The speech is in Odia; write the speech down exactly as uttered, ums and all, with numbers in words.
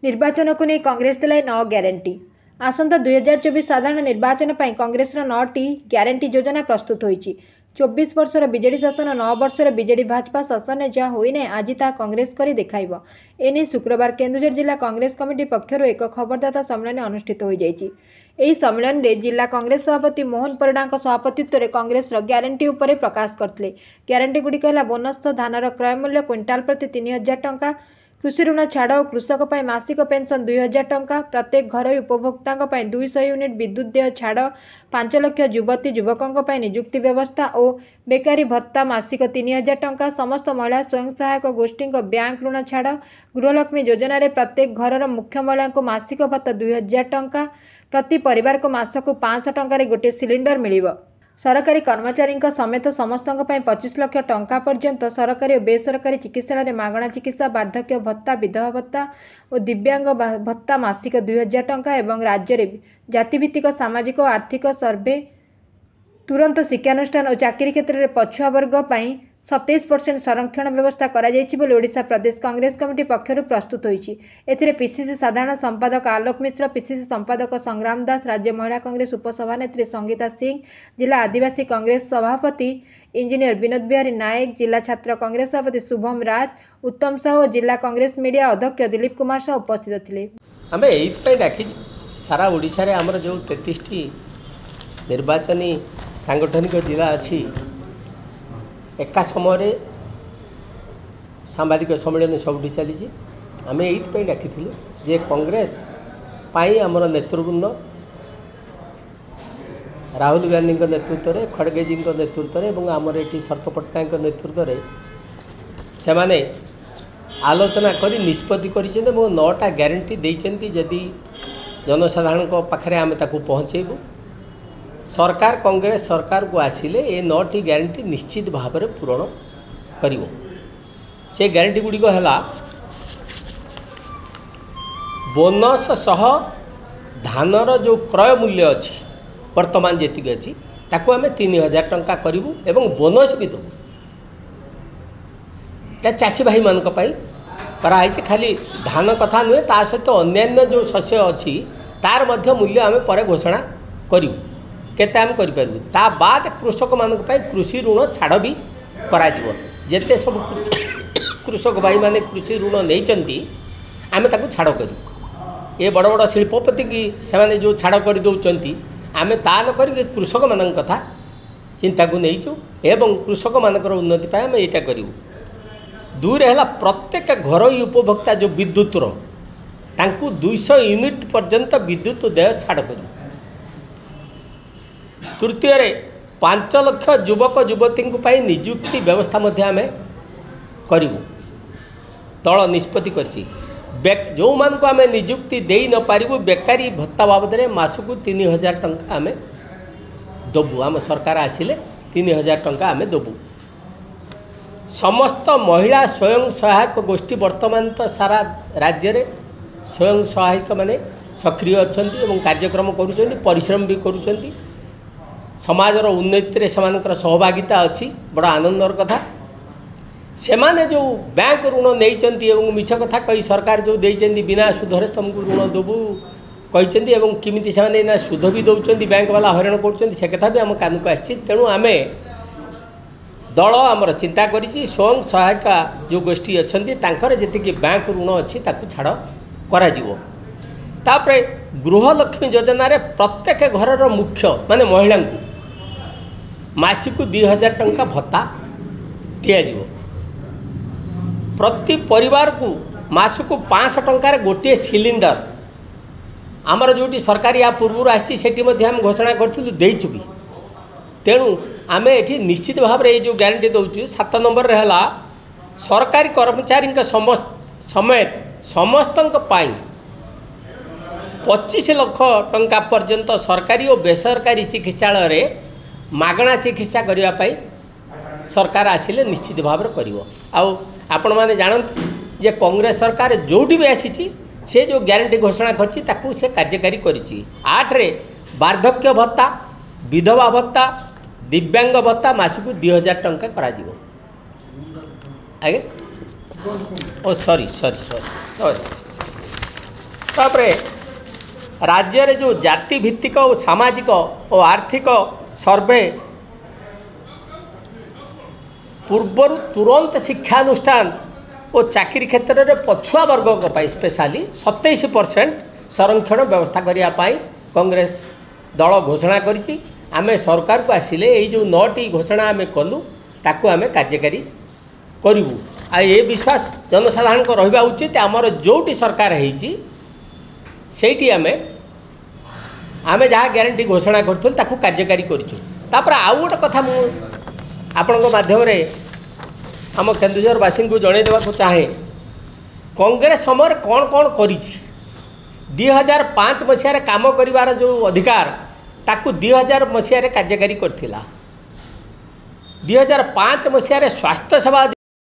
ନିର୍ବାଚନକୁ ନେଇ କଂଗ୍ରେସ ଦେଲା ନଅ ଗ୍ୟାରେଣ୍ଟି। ଆସନ୍ତା ଦୁଇହଜାର ଚବିଶ ସାଧାରଣ ନିର୍ବାଚନ ପାଇଁ କଂଗ୍ରେସର ନଅଟି ଗ୍ୟାରେଣ୍ଟି ଯୋଜନା ପ୍ରସ୍ତୁତ ହୋଇଛି। ଚବିଶ ବର୍ଷର ବିଜେଡି ଶାସନ, ନଅ ବର୍ଷର ବିଜେଡି ଭାଜପା ଶାସନରେ ଯାହା ହୋଇନାହିଁ, ଆଜି ତାହା କଂଗ୍ରେସ କରି ଦେଖାଇବ। ଏନେଇ ଶୁକ୍ରବାର କେନ୍ଦୁଝର ଜିଲ୍ଲା କଂଗ୍ରେସ କମିଟି ପକ୍ଷରୁ ଏକ ଖବରଦାତା ସମ୍ମିଳନୀ ଅନୁଷ୍ଠିତ ହୋଇଯାଇଛି। ଏହି ସମ୍ମିଳନୀରେ ଜିଲ୍ଲା କଂଗ୍ରେସ ସଭାପତି ମୋହନ ପରିଡ଼ାଙ୍କ ସଭାପତିତ୍ୱରେ କଂଗ୍ରେସର ଗ୍ୟାରେଣ୍ଟି ଉପରେ ପ୍ରକାଶ କରିଥିଲେ। ଗ୍ୟାରେଣ୍ଟିଗୁଡ଼ିକ ହେଲା ବୋନସ, ଧାନର କ୍ରୟ ମୂଲ୍ୟ କ୍ୱିଣ୍ଟାଲ ପ୍ରତି ତିନି ହଜାର ଟଙ୍କା, କୃଷି ଋଣ ଛାଡ଼ ଓ କୃଷକ ପାଇଁ ମାସିକ ପେନ୍ସନ୍ ଦୁଇ ହଜାର ଟଙ୍କା, ପ୍ରତ୍ୟେକ ଘରୋଇ ଉପଭୋକ୍ତାଙ୍କ ପାଇଁ ଦୁଇଶହ ୟୁନିଟ୍ ବିଦ୍ୟୁତ୍ ଦେୟ ଛାଡ଼, ପାଞ୍ଚ ଲକ୍ଷ ଯୁବତୀ ଯୁବକଙ୍କ ପାଇଁ ନିଯୁକ୍ତି ବ୍ୟବସ୍ଥା ଓ ବେକାରୀ ଭତ୍ତା ମାସିକ ତିନି ହଜାର ଟଙ୍କା, ସମସ୍ତ ମହିଳା ସ୍ୱୟଂ ସହାୟକ ଗୋଷ୍ଠୀଙ୍କ ବ୍ୟାଙ୍କ ଋଣ ଛାଡ଼, ଗୃହଲକ୍ଷ୍ମୀ ଯୋଜନାରେ ପ୍ରତ୍ୟେକ ଘରର ମୁଖ୍ୟ ମହିଳାଙ୍କୁ ମାସିକ ଭତ୍ତା ଦୁଇ ହଜାର ଟଙ୍କା, ପ୍ରତି ପରିବାରକୁ ମାସକୁ ପାଞ୍ଚଶହ ଟଙ୍କାରେ ଗୋଟିଏ ସିଲିଣ୍ଡର ମିଳିବ। ସରକାରୀ କର୍ମଚାରୀଙ୍କ ସମେତ ସମସ୍ତଙ୍କ ପାଇଁ ପଚିଶ ଲକ୍ଷ ଟଙ୍କା ପର୍ଯ୍ୟନ୍ତ ସରକାରୀ ଓ ବେସରକାରୀ ଚିକିତ୍ସାଳୟରେ ମାଗଣା ଚିକିତ୍ସା, ବାର୍ଦ୍ଧକ୍ୟ ଭତ୍ତା, ବିଧବା ଭତ୍ତା ଓ ଦିବ୍ୟାଙ୍ଗ ଭତ୍ତା ମାସିକ ଦୁଇ ହଜାର ଟଙ୍କା ଏବଂ ରାଜ୍ୟରେ ଜାତିଭିତ୍ତିକ ସାମାଜିକ ଓ ଆର୍ଥିକ ସର୍ଭେ, ତୁରନ୍ତ ଶିକ୍ଷାନୁଷ୍ଠାନ ଓ ଚାକିରି କ୍ଷେତ୍ରରେ ପଛୁଆ ବର୍ଗ ପାଇଁ ସତେଇଶ ପରସେଣ୍ଟ ସଂରକ୍ଷଣ ବ୍ୟବସ୍ଥା କରାଯାଇଛି ବୋଲି ଓଡ଼ିଶା ପ୍ରଦେଶ କଂଗ୍ରେସ କମିଟି ପକ୍ଷରୁ ପ୍ରସ୍ତୁତ ହୋଇଛି। ଏଥିରେ ପିସିସି ସାଧାରଣ ସମ୍ପାଦକ ଆଲୋକ ମିଶ୍ର, ପିସିସି ସମ୍ପାଦକ ସଂଗ୍ରାମ ଦାସ, ରାଜ୍ୟ ମହିଳା କଂଗ୍ରେସ ଉପସଭାନେତ୍ରୀ ସଙ୍ଗୀତା ସିଂ, ଜିଲ୍ଲା ଆଦିବାସୀ କଂଗ୍ରେସ ସଭାପତି ଇଞ୍ଜିନିୟର ବିନୋଦ ବିହାରୀ ନାୟକ, ଜିଲ୍ଲା ଛାତ୍ର କଂଗ୍ରେସ ସଭାପତି ଶୁଭମ ରାଜ, ଉତ୍ତମ ସାହୁ ଓ ଜିଲ୍ଲା କଂଗ୍ରେସ ମିଡିଆ ଅଧ୍ୟକ୍ଷ ଦିଲ୍ଲୀପ କୁମାର ସାହୁ ଉପସ୍ଥିତ ଥିଲେ। ଆମେ ଏଇଥିପାଇଁ ଡାକିଛୁ, ସାରା ଓଡ଼ିଶାରେ ଆମର ଯେଉଁ ତେତିଶଟି ନିର୍ବାଚନୀ ସାଙ୍ଗଠନିକ ଜିଲ୍ଲା ଅଛି, ଏକା ସମୟରେ ସାମ୍ବାଦିକ ସମ୍ମିଳନୀ ସବୁଠି ଚାଲିଛି। ଆମେ ଏଇଥିପାଇଁ ଡାକିଥିଲୁ ଯେ କଂଗ୍ରେସ ପାଇଁ ଆମର ନେତୃବୃନ୍ଦ ରାହୁଲ ଗାନ୍ଧୀଙ୍କ ନେତୃତ୍ୱରେ, ଖଡ଼ଗେଜୀଙ୍କ ନେତୃତ୍ୱରେ ଏବଂ ଆମର ଏଠି ଶରତ ପଟ୍ଟନାୟକଙ୍କ ନେତୃତ୍ୱରେ ସେମାନେ ଆଲୋଚନା କରି ନିଷ୍ପତ୍ତି କରିଛନ୍ତି ଏବଂ ନଅଟା ଗ୍ୟାରେଣ୍ଟି ଦେଇଛନ୍ତି। ଯଦି ଜନସାଧାରଣଙ୍କ ପାଖରେ ଆମେ ତାକୁ ପହଞ୍ଚେଇବୁ, ସରକାର କଂଗ୍ରେସ ସରକାରକୁ ଆସିଲେ ଏ ନଅଟି ଗ୍ୟାରେଣ୍ଟି ନିଶ୍ଚିତ ଭାବରେ ପୂରଣ କରିବ। ସେ ଗ୍ୟାରେଣ୍ଟି ଗୁଡ଼ିକ ହେଲା ବୋନସ୍ ସହ ଧାନର ଯେଉଁ କ୍ରୟ ମୂଲ୍ୟ ଅଛି, ବର୍ତ୍ତମାନ ଯେତିକି ଅଛି, ତାକୁ ଆମେ ତିନି ହଜାର ଟଙ୍କା କରିବୁ ଏବଂ ବୋନସ୍ ବି ଦେବୁ। ଏଇଟା ଚାଷୀ ଭାଇମାନଙ୍କ ପାଇଁ କରାହେଇଛି। ଖାଲି ଧାନ କଥା ନୁହେଁ, ତା ସହିତ ଅନ୍ୟାନ୍ୟ ଯେଉଁ ଶସ୍ୟ ଅଛି ତାର ମଧ୍ୟ ମୂଲ୍ୟ ଆମେ ପରେ ଘୋଷଣା କରିବୁ, କେତେ ଆମେ କରିପାରିବୁ। ତା ବାଦ କୃଷକମାନଙ୍କ ପାଇଁ କୃଷି ଋଣ ଛାଡ଼ ବି କରାଯିବ। ଯେତେ ସବୁ କୃଷକ ଭାଇମାନେ କୃଷି ଋଣ ନେଇଛନ୍ତି, ଆମେ ତାକୁ ଛାଡ଼ କରିବୁ। ଏ ବଡ଼ ବଡ଼ ଶିଳ୍ପପତିକି ସେମାନେ ଯେଉଁ ଛାଡ଼ କରିଦେଉଛନ୍ତି, ଆମେ ତା ନ କରିକି କୃଷକମାନଙ୍କ କଥା ଚିନ୍ତାକୁ ନେଇଛୁ ଏବଂ କୃଷକମାନଙ୍କର ଉନ୍ନତି ପାଇଁ ଆମେ ଏଇଟା କରିବୁ। ଦୁଇରେ ହେଲା ପ୍ରତ୍ୟେକ ଘରୋଇ ଉପଭୋକ୍ତା ଯେଉଁ ବିଦ୍ୟୁତର, ତାଙ୍କୁ ଦୁଇଶହ ୟୁନିଟ୍ ପର୍ଯ୍ୟନ୍ତ ବିଦ୍ୟୁତ ଦେୟ ଛାଡ଼ କରିବୁ। ତୃତୀୟରେ ପାଞ୍ଚ ଲକ୍ଷ ଯୁବକ ଯୁବତୀଙ୍କ ପାଇଁ ନିଯୁକ୍ତି ବ୍ୟବସ୍ଥା ମଧ୍ୟ ଆମେ କରିବୁ, ଦଳ ନିଷ୍ପତ୍ତି କରିଛି। ଯେଉଁମାନଙ୍କୁ ଆମେ ନିଯୁକ୍ତି ଦେଇ ନପାରିବୁ, ବେକାରୀ ଭତ୍ତା ବାବଦରେ ମାସକୁ ତିନି ହଜାର ଟଙ୍କା ଆମେ ଦେବୁ। ଆମ ସରକାର ଆସିଲେ ତିନି ହଜାର ଟଙ୍କା ଆମେ ଦେବୁ। ସମସ୍ତ ମହିଳା ସ୍ୱୟଂ ସହାୟକ ଗୋଷ୍ଠୀ, ବର୍ତ୍ତମାନ ତ ସାରା ରାଜ୍ୟରେ ସ୍ୱୟଂ ସହାୟକମାନେ ସକ୍ରିୟ ଅଛନ୍ତି ଏବଂ କାର୍ଯ୍ୟକ୍ରମ କରୁଛନ୍ତି, ପରିଶ୍ରମ ବି କରୁଛନ୍ତି, ସମାଜର ଉନ୍ନତିରେ ସେମାନଙ୍କର ସହଭାଗିତା ଅଛି, ବଡ଼ ଆନନ୍ଦର କଥା। ସେମାନେ ଯେଉଁ ବ୍ୟାଙ୍କ ଋଣ ନେଇଛନ୍ତି ଏବଂ ମିଛ କଥା କହି ସରକାର ଯେଉଁ ଦେଇଛନ୍ତି, ବିନା ସୁଧରେ ତୁମକୁ ଋଣ ଦେବୁ କହିଛନ୍ତି, ଏବଂ କେମିତି ସେମାନେ ଏଇନା ସୁଧ ବି ଦେଉଛନ୍ତି, ବ୍ୟାଙ୍କ ବାଲା ହଇରାଣ କରୁଛନ୍ତି, ସେ କଥା ବି ଆମ କାନକୁ ଆସିଛି। ତେଣୁ ଆମେ ଦଳ ଆମର ଚିନ୍ତା କରିଛି, ସ୍ୱୟଂ ସହାୟିକା ଯେଉଁ ଗୋଷ୍ଠୀ ଅଛନ୍ତି ତାଙ୍କର ଯେତିକି ବ୍ୟାଙ୍କ ଋଣ ଅଛି ତାକୁ ଛାଡ଼ କରାଯିବ। ତାପରେ ଗୃହଲକ୍ଷ୍ମୀ ଯୋଜନାରେ ପ୍ରତ୍ୟେକ ଘରର ମୁଖ୍ୟ ମାନେ ମହିଳାଙ୍କୁ ମାସିକୁ ଦୁଇ ହଜାର ଟଙ୍କା ଭତ୍ତା ଦିଆଯିବ। ପ୍ରତି ପରିବାରକୁ ମାସକୁ ପାଞ୍ଚଶହ ଟଙ୍କାରେ ଗୋଟିଏ ସିଲିଣ୍ଡର। ଆମର ଯେଉଁଠି ସରକାର ୟା ପୂର୍ବରୁ ଆସିଛି, ସେଠି ମଧ୍ୟ ଆମେ ଘୋଷଣା କରିଥିଲୁ, ଦେଇଛୁ ବି। ତେଣୁ ଆମେ ଏଠି ନିଶ୍ଚିତ ଭାବରେ ଏଇ ଯେଉଁ ଗ୍ୟାରେଣ୍ଟି ଦେଉଛୁ। ସାତ ନମ୍ବରରେ ହେଲା ସରକାରୀ କର୍ମଚାରୀଙ୍କ ସମସ୍ତ ସମେତ ସମସ୍ତଙ୍କ ପାଇଁ ପଚିଶ ଲକ୍ଷ ଟଙ୍କା ପର୍ଯ୍ୟନ୍ତ ସରକାରୀ ଓ ବେସରକାରୀ ଚିକିତ୍ସାଳୟରେ ମାଗଣା ଚିକିତ୍ସା କରିବା ପାଇଁ ସରକାର ଆସିଲେ ନିଶ୍ଚିତ ଭାବରେ କରିବ। ଆଉ ଆପଣମାନେ ଜାଣନ୍ତି ଯେ କଂଗ୍ରେସ ସରକାର ଯେଉଁଠି ବି ଆସିଛି, ସେ ଯେଉଁ ଗ୍ୟାରେଣ୍ଟି ଘୋଷଣା କରିଛି ତାକୁ ସେ କାର୍ଯ୍ୟକାରୀ କରିଛି। ଆଠରେ ବାର୍ଦ୍ଧକ୍ୟ ଭତ୍ତା, ବିଧବା ଭତ୍ତା, ଦିବ୍ୟାଙ୍ଗ ଭତ୍ତା ମାସକୁ ଦୁଇ ହଜାର ଟଙ୍କା କରାଯିବ। ଆଜ୍ଞା, ଓ ସରି ସରି ସରି ସରି। ତାପରେ ରାଜ୍ୟରେ ଯେଉଁ ଜାତି ଭିତ୍ତିକ ଓ ସାମାଜିକ ଓ ଆର୍ଥିକ ସର୍ଭେ ପୂର୍ବରୁ ତୁରନ୍ତ ଶିକ୍ଷାନୁଷ୍ଠାନ ଓ ଚାକିରି କ୍ଷେତ୍ରରେ ପଛୁଆ ବର୍ଗଙ୍କ ପାଇଁ ସ୍ପେଶାଲି ସତେଇଶ ପରସେଣ୍ଟ ସଂରକ୍ଷଣ ବ୍ୟବସ୍ଥା କରିବା ପାଇଁ କଂଗ୍ରେସ ଦଳ ଘୋଷଣା କରିଛି। ଆମେ ସରକାରକୁ ଆସିଲେ ଏଇ ଯେଉଁ ନଅଟି ଘୋଷଣା ଆମେ କଲୁ ତାକୁ ଆମେ କାର୍ଯ୍ୟକାରୀ କରିବୁ। ଆଉ ଏ ବିଶ୍ୱାସ ଜନସାଧାରଣଙ୍କ ରହିବା ଉଚିତ। ଆମର ଯେଉଁଠି ସରକାର ହେଇଛି ସେଇଠି ଆମେ ଆମେ ଯାହା ଗ୍ୟାରେଣ୍ଟି ଘୋଷଣା କରିଥିଲୁ ତାକୁ କାର୍ଯ୍ୟକାରୀ କରିଛୁ। ତାପରେ ଆଉ ଗୋଟେ କଥା ମୁଁ ଆପଣଙ୍କ ମାଧ୍ୟମରେ ଆମ କେନ୍ଦୁଝରବାସୀଙ୍କୁ ଜଣାଇ ଦେବାକୁ ଚାହେଁ, କଂଗ୍ରେସ ସମୟରେ କ'ଣ କ'ଣ କରିଛି। ଦୁଇ ହଜାର ପାଞ୍ଚ ମସିହାରେ କାମ କରିବାର ଯେଉଁ ଅଧିକାର ତାକୁ ଦୁଇ ହଜାର ମସିହାରେ କାର୍ଯ୍ୟକାରୀ କରିଥିଲା। ଦୁଇ ହଜାର ପାଞ୍ଚ ମସିହାରେ ସ୍ୱାସ୍ଥ୍ୟ ସେବା